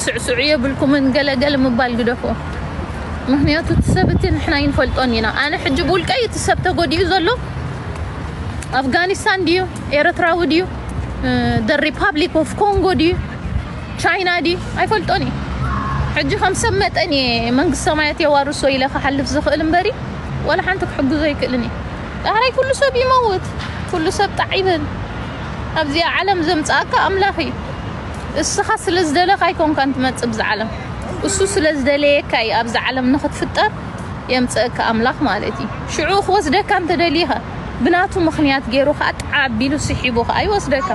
ስዕስዑ የብልኩምን፣ ገለገለ ምባል ግደፎ። ምክንያቱ እቲ ሰብ እቲ ንሕና ይንፈልጦን ኢና። ኣነ ሕጂ ብውልቀይ እቲ ሰብ ተጎዲኡ ዘሎ ኣፍጋኒስታን ድዩ፣ ኤርትራዊ ድዩ፣ ደ ሪፓብሊክ ኦፍ ኮንጎ ድዩ፣ ቻይና ድዩ፣ ኣይፈልጦን እዩ። ሕጂ ከም ሰብ መጠን እየ መንግስቲ ሰማያት የዋርሶ ኢለ ክሓልፍ ዝኽእል እምበሪ፣ ዋላ ሓንቲ ክሕግዞ ኣይክእልን እየ። ዳሕራይ ኩሉ ሰብ ይመውት፣ ኩሉ ሰብ ጣዕ ይብል። ኣብዚኣ ዓለም ዘምጽኣካ ኣምላኽ እዩ። እስኻ ስለ ዝደለኻ ኣይኮንካን ትመጽእ ብዛ ዓለም፣ እሱ ስለ ዝደለየካ እዩ ኣብዛ ዓለም ንኽትፍጠር የምጽእካ ኣምላኽ ማለት እዩ። ሽዑ ክወስደካ እንተደሊኸ ብናቱ ምኽንያት ገይሩ ኸኣ ጣዕ ኣቢሉ ስሒቡ ኸኣ ይወስደካ።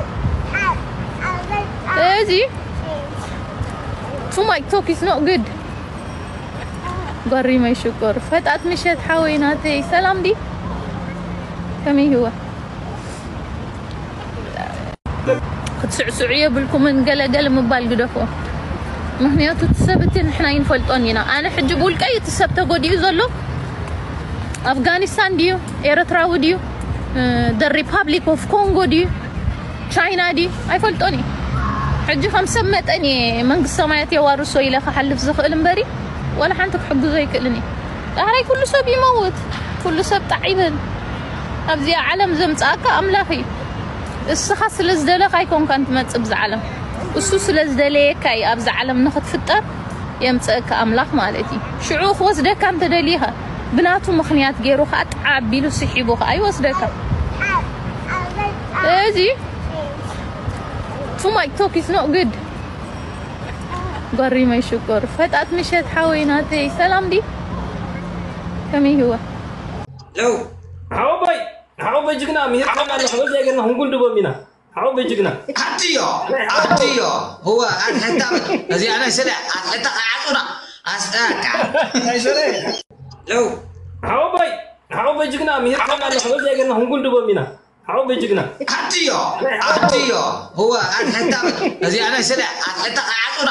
እዚ too much talk is not good። ጓሪመይ ሽኮር ፈጣጥ ምሸት ሓወይ ናተይ ሰላም ዲ ከመይ ህወ ክትስዕስዑ የብልኩምን፣ ገለገለ ምባል ግደፎ። ምክንያቱ እቲ ሰብ እቲ ንሕና ይንፈልጦን ኢና። ኣነ ሕጂ ብውልቀይ እቲ ሰብ ተጎዲኡ ዘሎ ኣፍጋኒስታን ድዩ፣ ኤርትራዊ ድዩ፣ ደ ሪፓብሊክ ኦፍ ኮንጎ ድዩ፣ ቻይና ድዩ፣ ኣይፈልጦን እዩ። ሕጂ ከም ሰብ መጠን እየ መንግስቲ ሰማያት የዋርሶ ኢለ ክሓልፍ ዝኽእል እምበሪ፣ ዋላ ሓንቲ ክሕግዞ ኣይክእልን እየ። ዳሕራይ ኩሉ ሰብ ይመውት፣ ኩሉ ሰብ ጣዕ ይብል። ኣብዚኣ ዓለም ዘምጽኣካ ኣምላኽ እዩ። እስኻ ስለ ዝደለኻ ኣይኮንካን ትመጽእ ብዛ ዓለም፣ እሱ ስለ ዝደለየካ እዩ ኣብዛ ዓለም ንኽትፍጠር የምጽእካ ኣምላኽ ማለት እዩ። ሽዑ ክወስደካ እንተደሊኸ ብናቱ ምኽንያት ገይሩ ኸኣ ጣዕ ኣቢሉ ስሒቡ ኸኣ ይወስደካ። እዚ too much talk is not good። ጓሪመይ ሽኮር ፈጣጥ ምሸት ሓወይ ናተይ ሰላም ዲ ከመይ ህወ ለው ሓወቦይ ሓወቦይ ጅግና ምሂርካና ኣለኹ። በዚ ገርና ክንጉልድቦም ኢና። ሓወቦይ ጅግና። ኣድዮ ኣድዮ እወ ኣድሕታ እዚኣ ናይ ስለ ኣድሕታ ከዓጹና ኣስኣካ ለው ሓወቦይ ሓወቦይ ጅግና ምሂርካና ኣለኹ። በዚ ገርና ክንጉልድቦም ኢና። ሓወቦይ ጅግና። ኣድዮ ኣድዮ እወ ኣድሕታ እዚኣ ናይ ስለ ኣድሕታ ከዓጹና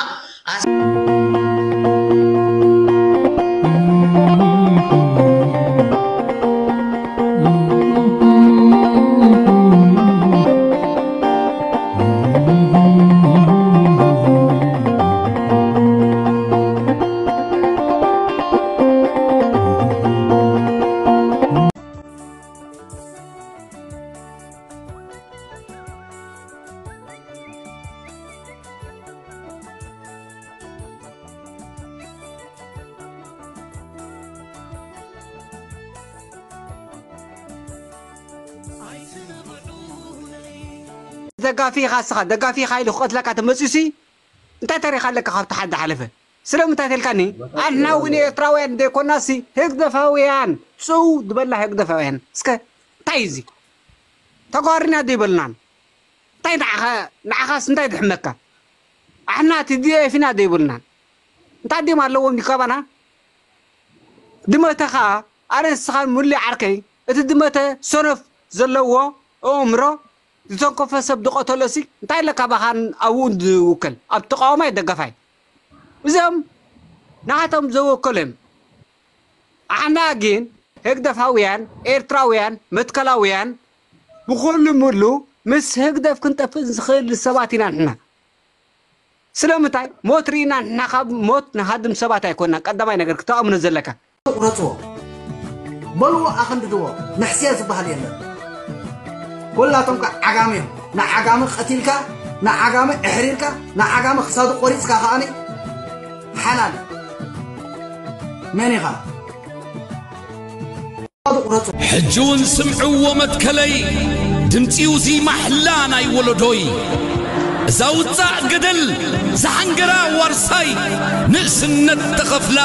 ደጋፊ ኢኻ እስኻ ደጋፊ ኢኻ ኢሉ ክቐትለካ ተመፅዩሲ እንታይ ታሪኽ ኣለካ ካብቲ ሓድ ዝሓለፈ ስለምንታይ ተልካኒ ኣንሕና እውን ኤርትራውያን ዘይኮናሲ ህግደፋውያን ፅው ዝበልና ህግደፋውያን እስከ እንታይ እዚ ተጓሪና ዘይበልናን እንታይ ንዓኻስ እንታይ ድሕመካ ኣሕና ቲዲኤፍ ኢና ዘይበልናን እንታይ ድም ኣለዎም ይካባና ድመተ ኸዓ ኣነ ንስኻን ሙሉእ ዓርከይ እቲ ድመተ ሰነፍ ዘለዎ ኣእምሮ ዝተንከፈ ሰብ ዝቐተሎሲ እንታይ ኣለካ ባኻን ኣብኡ ዝውከል ኣብ ተቃዋማይ ደገፋይ እዚኦም ንዓቶም ዘወከሉ እዮም ኣሕና ግን ህግደፋውያን ኤርትራውያን መትከላውያን ብኹሉ ሙሉ ምስ ህግደፍ ክንጠፍእ ዝኽእል ሰባት ኢና ንሕና ስለምንታይ ሞት ርኢና ንሕና ካብ ሞት ንሃድም ሰባት ኣይኮንናን ቀዳማይ ነገር ክተኣምኖ ዘለካ። ቁረፅዎ በልዎ ኣኸንድድዎ መሕስያ ዝበሃል የለን። ኮላቶም ከዓ ዓጋመ እዮም። ንዓጋመ ቀቲልካ ንዓጋመ ኣሕሪርካ ንዓጋመ ክሳዱ ቆሪፅካ ከዓኒ ሓላል መን ኢኻ? ሕጂ እውን ስምዕዎ መትከለይ ድምጺ ውዚ ማሕላ ናይ ወለዶይ እዛ ውጻእ ገደል ዝሓንገራ ዋርሳይ ንእስነት ተኸፍላ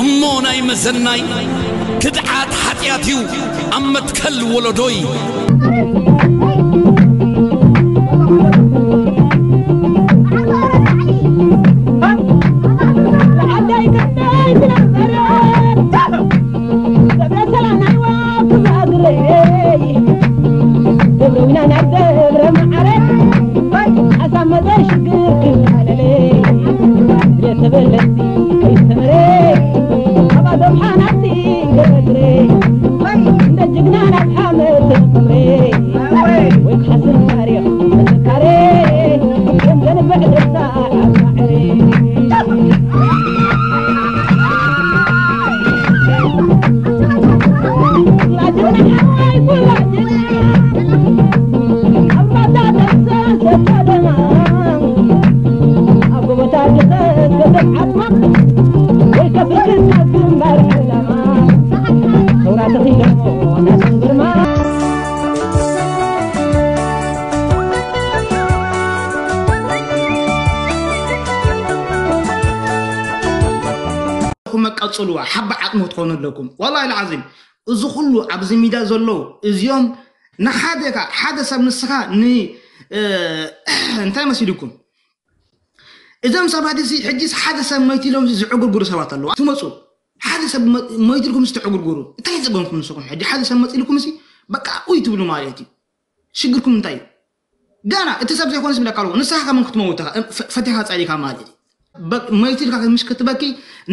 እሞ ናይ መዘናይ ክድዓት ሓጢኣት እዩ ኣብ መትከል ወለዶይ መቀጽልዋ ሓባ ዓቕሚ ክትኾኑ ኣለኩም። ወላሂ ልዓዚም፣ እዚ ኩሉ ኣብዚ ሚድያ ዘለዉ እዚኦም ንሓደ ካ-፣ ሓደ ሰብ ንስኻ ን-፣ እ፣ እንታይ መሲልኩም? እዞም ሰባት እዚ ሕጂስ ሓደ ሰብ መይቱ ኢሎም ዝዕጉርጉሩ ሰባት ኣለዉ። ትመጹ፣ ሓደ ሰብ መ-፣ መይቱ ኢልኩም ዝተዕጉርጉሩ። እንታይ ጸገምኩም ንስኹም? ሕጂ ሓደ ሰብ መጺኡ ኢልኩም እዚ በቃ ኡይ ትብሉ ማለት እዩ። ሽግርኩም እንታይ እዩ? ገና እቲ ሰብ ዘይኮነስ ይብለካ ኣለዎ። ንስኻ ከመን ክትመውት ኢኻ፣ ፈ-፣ ፈቲኻ ጸሊእካ ማለት እዩ። በ-፣ መይቱ ኢልካ ምሽ ክትበኪ፣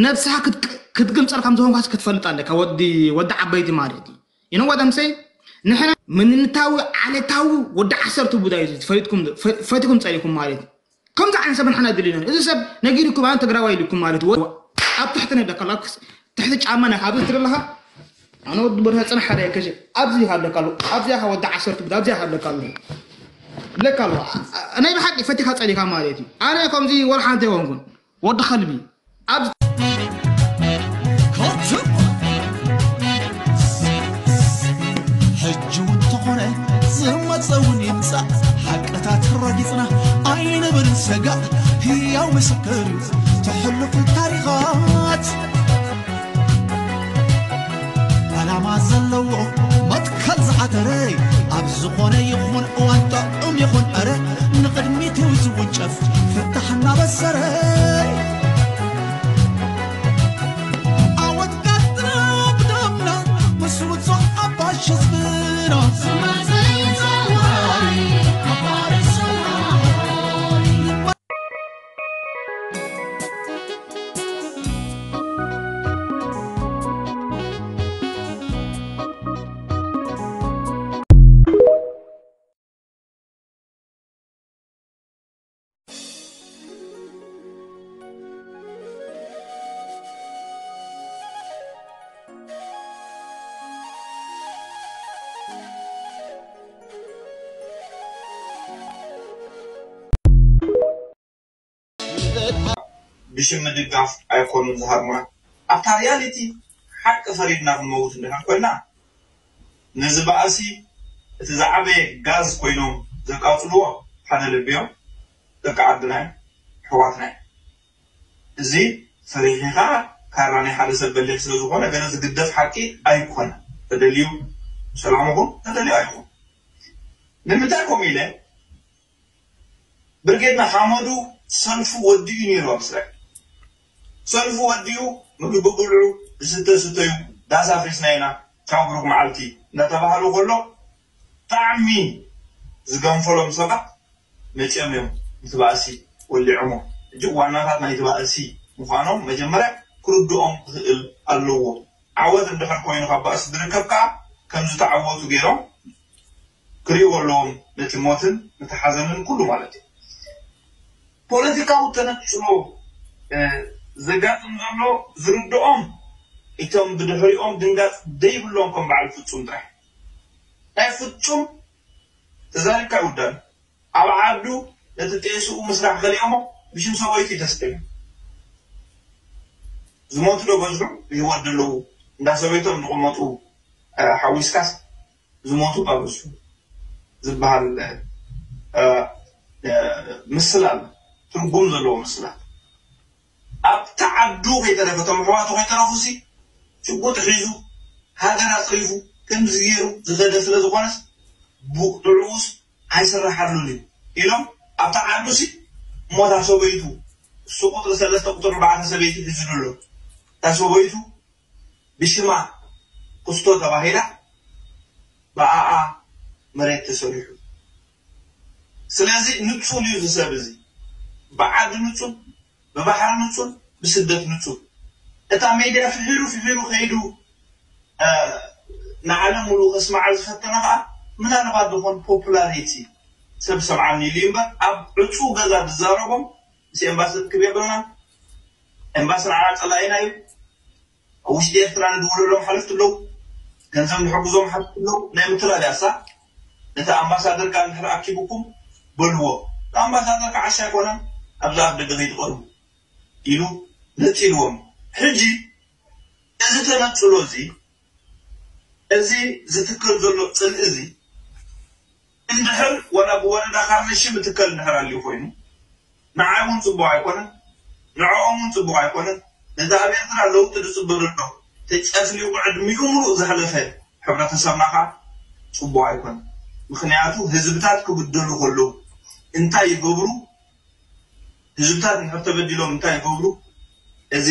ነብስኻ ክትቅ-፣ ክትግምጸል ከም ዝኾንካስ ክትፈልጥ ኣለካ፣ ወዲ፣ ወዲ ዓበይቲ ማለት እዩ። You know what I'm saying? ንሕና ምንነታዊ፣ ዓሌታዊ ወዲ ዓሰርተ ቡዳ እዩ፣ ፈሊጥኩም፣ ፈ-፣ ፈቲኩም ጸሊእኩም ማለት እዩ። ከምዚ ዓይነት ሰብ ንሕና ድልዩና። እዚ ሰብ ነጊሩኩም፣ ኣነ ትግራዋይ ኢሉኩም ማለት እዩ። ኣብ ትሕቲ ነደካ ኣሎ፣ ኣብ ክስ-፣ ትሕቲ ጫማና ካብ ትርኢ ኣለኻ። ኣነ ወዲ በርሀ ጽናሕ ሓደ ከሽ ኣብዚ ይሃለካ ኣሎ፣ ኣብዚኣ ወዲ ዓሰርተ ቡዳ፣ ኣብዚኣ ይሃለካ ኣሎ። ለካ ኣሎ። ኣ-፣ ኣ-፣ ናይ ብሓቂ ፈቲኻ ጸሊእካ ማለት እዩ። ኣነ ከምዚ ወላ ሓንቲ ኣይኮንኩን። ወዲ ከልቢ። ኣብ ኮትም! ሕጂ እውን ተኾነ ዝመጸ እውን ይምጻእ፣ ሓቅታት ረጊጽና ኣይንብል ሰጋእ። ህያው ምስክር እዩ እቲ ሕሉፍ ታሪኻት። ዓላማ ዘለዎ መትከል ዝዓተረ፣ ኣብ ዝኾነ ይኹን እዋን ጥዑም ይኹን ዕረ፣ ንቕድሚት እዩ ዝውንጨፍ ፍታሕ እናበሰረ። ዓወት ቀጥና ብደምና ምስ ውጹዕ ሓፋሽ ህዝብና። ብሽም ምድጋፍ ኣይኮኑን ዝሃርሙና። ኣብታ ሪያሊቲ ሓቂ ፈሪድና ክንመውት እንድሕር ኮይና፣ ነዚ ባእሲ እቲ ዝዓበየ ጋዝ ኮይኖም ዘቃጽልዎ ሓደ ልቢ እዮም። ደቂ ዓድና እዮም፣ ኣሕዋትና እዮም። እዚ ፈሪኺኻ ካራ ናይ ሓደ ሰብ በሊሕ ስለ ዝኾነ ገለ ዝግደፍ ሓቂ ኣይኮነን። ተደልዩ ሰላም ይኹን፣ ተደልዩ ኣይኹን። ንምንታይ ከምኡ ኢለ? ብርጌድ ንሓመዱ ሰልፉ ወዲኡ ነይሩ ኣብ እስራኤል። ሰልፉ ወዲኡ፣ ምግቢ ብልዑ፣ ዝስተ ስተዩ፣ ዳስ ኣፍሪስና ኢና፣ ቻው ብሩኽ መዓልቲ እናተባህሉ ከሎ፣ ብጣዕሚ ዝገንፈሎም ሰባት መጺኦም እዮም ነቲ ባእሲ ወሊዖሞ። ሕጂ ዋናታት ናይቲ ባእሲ ምዃኖም መጀመርያ ክርድኦም ክኽእል ኣለዎ። ዓወት እንድሕር ኮይኑ ካብ ባእሲ ዝርከብ ከኣ ከም ዝተዓወቱ ገይሮም ክርእይዎ ኣለዎም፣ ነቲ ሞትን ነቲ ሓዘንን ኩሉ ማለት እዩ። ፖለቲካዊ ተነጽሎ፣ እ፣ ዘጋጥም ዘሎ ዝርድኦም እቶም ብድሕሪኦም ድንጋጽ ዘይብሎም ከም በዓል ፍጹም ጥራሕ። ናይ ፍጹም ተዛሪብካ ይውዳእ። ኣብ ዓዱ ነቲ ጤስኡ ምስራሕ ከሊኦሞ ብሽም ሰበይቱ እዩ ተሰይሙ። ዝሞቱ ዶ በዝሑ ብህይወት ዘለዉ እንዳ ሰበይቶም ዝቕመጡ፣ እ፣ ሓዊስካስ ዝሞቱ ዶ በዝሑ ዝበሃል፣ እ፣ እ፣ ምስላ ኣሎ። ትርጉም ዘለዎ ምስላ። ኣብቲ ዓዱ ከይተረፈ፣ እቶም ኣሕዋቱ ከይተረፉ ሲ ሽጉጥ ሒዙ ሃገር ኣጽሪፉ ከምዚ ገይሩ ዝኸደ ስለ ዝኾነስ ብጥዑስ ኣይስረሓሉን እዩ ኢሎም ኣብታ ዓዱ ሲ እሞ እታ ሰበይቱ እሱ ቁጽሪ ሰለስተ ቁጽሪ ኣርባዕተ ሰበይቲ ሒዙ ኣሎ። እታ ሰበይቱ ብሽማ ክስቶ ተባሂላ ብኣኣ መሬት ተሰሪሑ። ስለዚ ንጹል እዩ እዚ ሰብ እዚ። ብዓዲ ንጹል፣ ብባሕሪ ንጹል፣ ብስደት ንጹል። እታ ሜድያ ፍሒሩ ፍሒሩ ከይዱ፣ እ፣ ንዓለም ሙሉእ ከስማዓ ዝፈተነ ከኣ ምናልባት ዝኾን ፖፑላሪቲ ሰብ ሰምዓኒ ኢሉ እዩ እምበር ኣብ ዕጹው ገዛ ዝዛረቦም ምስ ኤምባሲ ርክብ የብልናን። ኤምባሲ ንዓና ጸላኢና እዩ። ኣብ ውሽጢ ኤርትራ ንድውለሎም ሓለፍቲ ኣለዉ፣ ገንዘብ ንሕግዞም ሓለፍቲ ኣለዉ። ናይ ምትላል እያ እሳ። ነቲ ኣምባሳደር ከኣ እንድሕር ኣኪቡኩም በልዎ። እቲ ኣምባሳደር ከዓ ዓሻ ኣይኮነን፣ ኣብዚ ኣብ ደገ ከይትቐርቡ ኢሉ ነጺልዎም። ሕጂ እዚ ተነጽሎ እዚ፣ እዚ ዝትከል ዘሎ ጽልኢ እዚ፣ እንድሕር ዋላ ብወረዳ ካርነ ሽም እትከል እንድሕር ኣልዩ ኮይኑ፣ ንዓይ እውን ጽቡቕ ኣይኮነን፣ ንዕኦም እውን ጽቡቕ ኣይኮነን። ነቲ ኣብ ኤርትራ ለውጢ ዝጽበ ዘሎ ተጨፍሊቑ ዕድሚኡ ሙሉእ ዘሕለፈ ሕብረተሰብና ከዓ ጽቡቕ ኣይኮነን። ምኽንያቱ ህዝብታት ክብደሉ ከለዉ እንታይ ይገብሩ? ህዝብታት እንድሕር ተበዲሎም እንታይ ይገብሩ? እዚ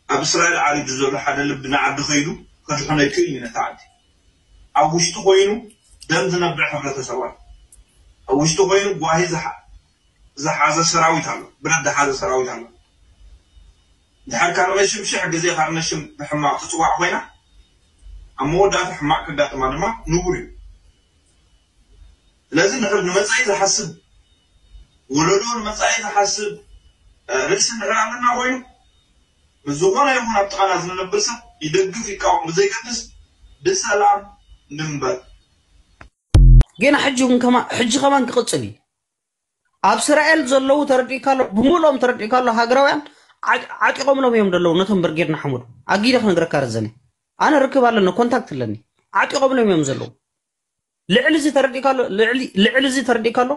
ኣብ እስራኤል ዓሪዱ ዘሎ ሓደ ልቢ ንዓዲ ከይዱ ከድሕኖ ይክእል እዩ ነቲ ዓዲ። ኣብ ውሽጡ ኮይኑ ደም ዝነብዕ ሕብረተሰብ ኣሎ። ኣብ ውሽጡ ኮይኑ ጓሂ ዝሓ- ዝሓዘ ሰራዊት ኣሎ፣ ብረት ዝሓዘ ሰራዊት ኣሎ። ድሓር ካብ ነሽም ሽሕ ግዜ ካብ ነሽም ብሕማቕ ትፅዋዕ ኮይና ኣብ መወዳእታ ሕማቕ ከጋጥማ ድማ ንቡር እዩ። ስለዚ ንሕር ንመፃኢ ዝሓስብ ወለዶ ንመፃኢ ዝሓስብ ርእሲ እንድሕር ኣለና ኮይኑ ምስ ዝኾነ ይኹን ኣብ ጥቓና ዝነብር ሰብ ይደግፍ ይቃወም ብዘይገድስ ብሰላም ንንበር። ጌና ሕጂ እውን ከማ ሕጂ ከማን ክቕጽል እዩ። ኣብ እስራኤል ዘለዉ ተረዲእካ ኣሎ፣ ብምልኦም ተረዲእካ ኣሎ። ሃገራውያን ዓጢ- ዓጢቖምሎም እዮም ዘለዉ ነቶም ብርጌድ ንሓመዱ። ኣጊደ ክነግረካ ረዘነ፣ ኣነ ርክብ ኣለኒ፣ ኮንታክት ኣለኒ። ዓጢቖምሎም እዮም ዘለዉ። ልዕሊ እዚ ተረዲእካ ኣሎ፣ ልዕሊ ልዕሊ እዚ ተረዲእካ ኣሎ።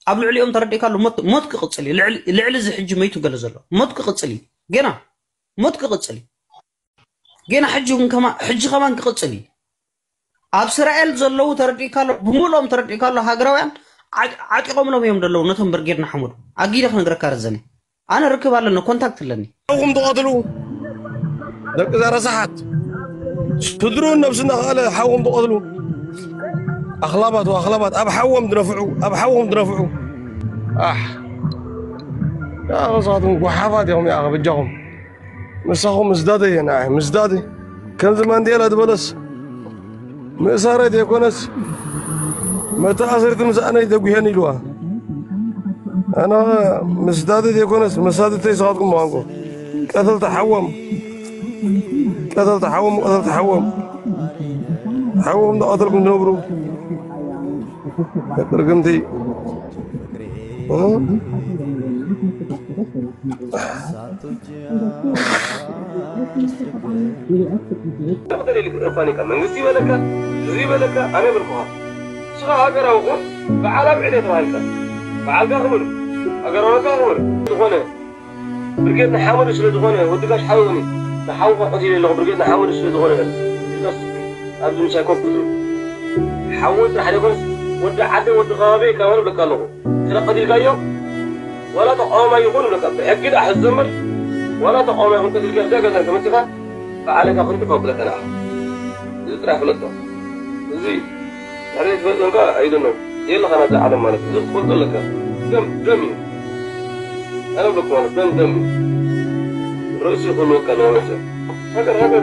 ኣብ ልዕሊኦም ተረዲእካ ኣሎ። ሞት ሞት ክቕጽል እዩ። ልዕሊ ልዕሊ እዚ ሕጂ መይቱ ገለ ዘሎ ሞት ክቕጽል እዩ። ጌና ሞት ክቕጽል እዩ። ጌና ሕጂ እውን ከማ ሕጂ ከማን ክቕጽል እዩ። ኣብ እስራኤል ዘለዉ ተረዲእካ ኣሎ፣ ብምልኦም ተረዲእካ ኣሎ። ሃገራውያን ዓጢ- ዓጢቖምሎም እዮም ዘለዉ ነቶም ብርጌድ ንሓመዱ። ኣጊደ ክነግረካ ረዘነ፣ ኣነ ርክብ ኣለኒ፣ ኮንታክት ኣለኒ። ሓውኹም ትቐትሉ ደቂ እዛ ረሳሓት ስድርኡን ነብሱ እናኸኣለ ሓውኹም ትቐትሉ ኣኽላባት ወኣኽላባት ኣብ ሓዎም ድነፍዑ ኣብ ሓውኹም ድነፍዑ ኣሕ ያኸ ንስኻትኩም ጓሓፋት ኢኹም ያኸ በጃኹም ምሳኹም ምስዳደ እየ ንዓይ ምስዳደ ከምዚ ማንዴላ ዝበለስ ምእሳረይ ዘይኮነስ መተኣሰርርቲ ምስኣነይ ዘጉሄን ኢልዋ ኣነ ምስዳደ ዘይኮነስ መሳድተይ ንስኻትኩም ምዃንኩም ቀተልቲ ሓዎም ቀተልቲ ሓዎም ቀተልቲ ሓዎም ሓዎም እንዳቐተልኩም ትነብሩ ርግምቲ መንግስቲ ይበለካ እዚ ይበለካ ኣነ ይበልኩኻ ንስኻ ሃገራዊ ኩን በዓል ኣብ ዕደ ተባሂልካ በዓልካ ክብር ሃገራውነትካ ክብር ዝኾነ ብርጌድ ንሓመዱ ስለ ዝኾነ ወዲ ጋሽ ሓወኒ ንሓውኻ ቀቲለ ኣለኹ ብርጌድ ንሓመዱ ስለ ዝኾነ ኢልካስ ኣብዚ ምሳይ ኮፍ ክትብል ሓወይ ጥራሕ ዘይኮነስ ወዲ ዓደይ ወዲ ከባቢ ካብ በሉ ብለካ ኣለኹ ስለ ቀቲልካዮ ዋላ ተቃዋማይ ይኹን ብለካ ብሕጊ ደኣ ሕዚ ዘምር ዋላ ተቃዋማይ ይኹን ቀቲልካዮ እዛ ገዛ እንተመፂኻ ብዓለካ ክንዲ ካብ ብለካ ንዓኻ እዚ ጥራሕ ፍለጦ እዚ ድሕሪ ትፈልጦ እንካ ኣይደኖ የለኻ ናብዛ ዓለም ማለት እዚ ክትፈልጦ ኣለካ ደም ደም እዩ ኣነ ብለኩ ማለት ደም ደም እዩ ርእሲ ክህልወካ ኣለዎ መቸም ሃገር ሃገር